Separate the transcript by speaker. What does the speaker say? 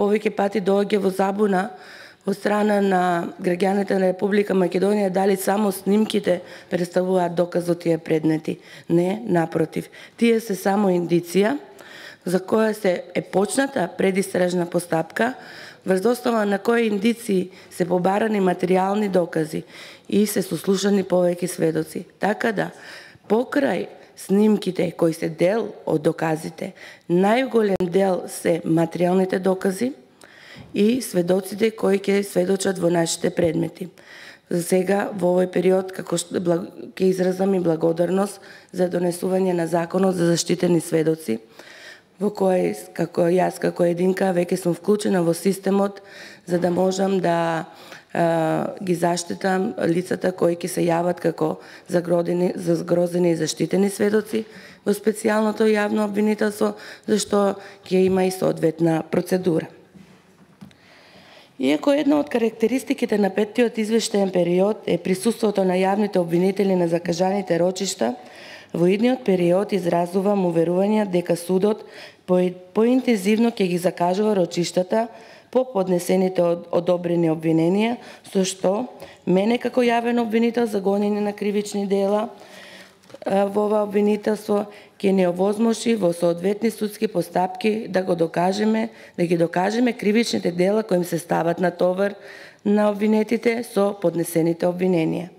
Speaker 1: повеќе пати доаѓа во забуна од страна на граѓаните на Република Македонија дали само снимките представуваат доказ од тие предмети. Не, напротив. Тие се само индиција за која е почната предистражна постапка, врз основа на кои индиции се побарани материјални докази и се сослушани повеќе сведоци. Така да, покрај снимките кои се дел од доказите, најголем дел се материјалните докази и сведоците кои ќе сведочат во нашите предмети. За сега, во овој период, ќе изразам и благодарност за донесување на Законот за заштитени сведоци, во кој, како јас, како единка, веќе сум вклучена во системот, за да можам да ги заштитам лицата кои ќе се јават како загрозени и заштитени сведоци во специјалното јавно обвинителство, зашто ќе има и соодветна процедура. Иако една од карактеристиките на петтиот извештаен период е присуството на јавните обвинители на закажаните рочишта, во идниот период изразувам уверување дека судот поинтензивно ќе ги закажува рочиштата по поднесените одобрени обвиненија, со што мене како јавен обвинител за гонење на кривични дела во ова обвинителство ќе не овозможи во соодветни судски постапки да ги докажеме кривичните дела кои им се стават на товар на обвинетите со поднесените обвиненија.